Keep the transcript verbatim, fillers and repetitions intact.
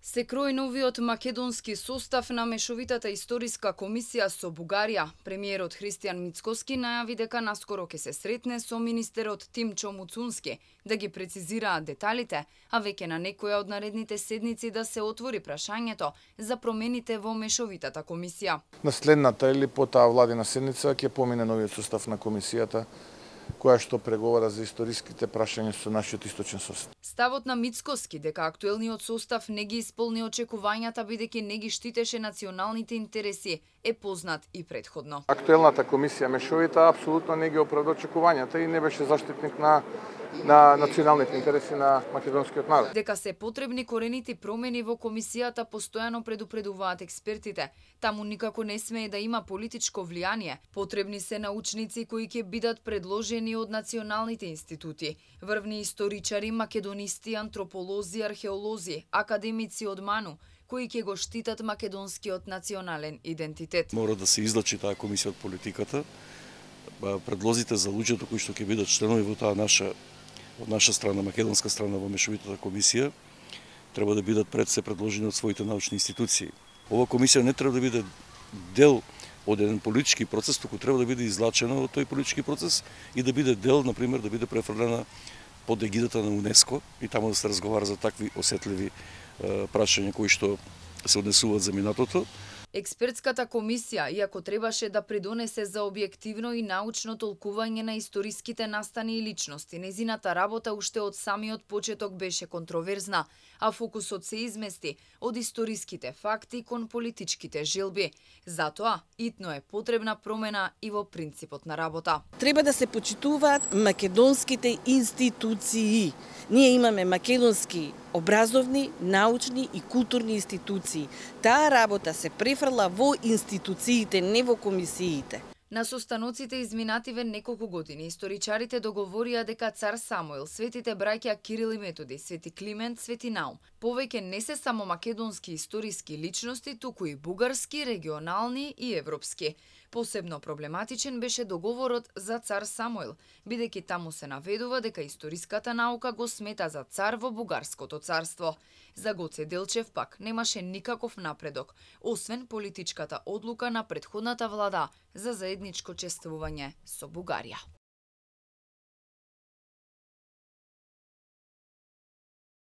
Се крои новиот македонски состав на мешовитата историска комисија со Бугарија. Премиерот Христијан Мицкоски најави дека наскоро ќе се сретне со министерот Тимчо Муцунски да ги прецизираат деталите, а веќе на некоја од наредните седници да се отвори прашањето за промените во мешовитата комисија. На следната или по таа владина седница ќе помине новиот состав на комисијата, која што преговара за историските прашања со нашиот источен состав. Ставот на Мицкоски дека актуелниот состав не ги исполни очекувањата бидејќи не ги штитеше националните интереси е познат и предходно. Актуелната комисија мешовита апсолутно не ги оправда очекувањата и не беше заштитник на на националните интереси на македонскиот народ. Дека се потребни коренити промени во комисијата постојано предупредуваат експертите. Таму никако не смее да има политичко влијание. Потребни се научници кои ќе бидат предложени од националните институти, врвни историчари, македонисти, антрополози, археолози, академици од МАНУ, кои ќе го штитат македонскиот национален идентитет. Мора да се излачи таа комисија од политиката. Предлозите за луѓето кои што ќе бидат членови во таа наша од наша страна, македонска страна во мешовитата комисија, треба да бидат пред се предложени од своите научни институции. Ова комисија не треба да биде дел од еден политички процес, туку треба да биде излачена од тој политички процес и да биде дел, например, да биде префрлена под егидата на УНЕСКО и таму да се разговара за такви осетливи е, прашања кои што се однесуваат за минатото. Експертската комисија, иако требаше да придонесе за објективно и научно толкување на историските настани и личности, незината работа уште од самиот почеток беше контроверзна, а фокусот се измести од историските факти кон политичките желби. Затоа, итно е потребна промена и во принципот на работа. Треба да се почитуваат македонските институции. Ние имаме македонски образовни, научни и културни институции. Таа работа се префрла во институциите, не во комисиите. На состаноците изминативе неколку години историчарите договорија дека цар Самуил, светите браќа Кирил и Методи, Свети Климент, Свети Наум, повеќе не се само македонски историски личности, туку и бугарски, регионални и европски. Посебно проблематичен беше договорот за цар Самуил, бидејќи таму се наведува дека историската наука го смета за цар во бугарското царство. За Гоце Делчев пак немаше никаков напредок, освен политичката одлука на претходната влада за заедничко чествување со Бугарија.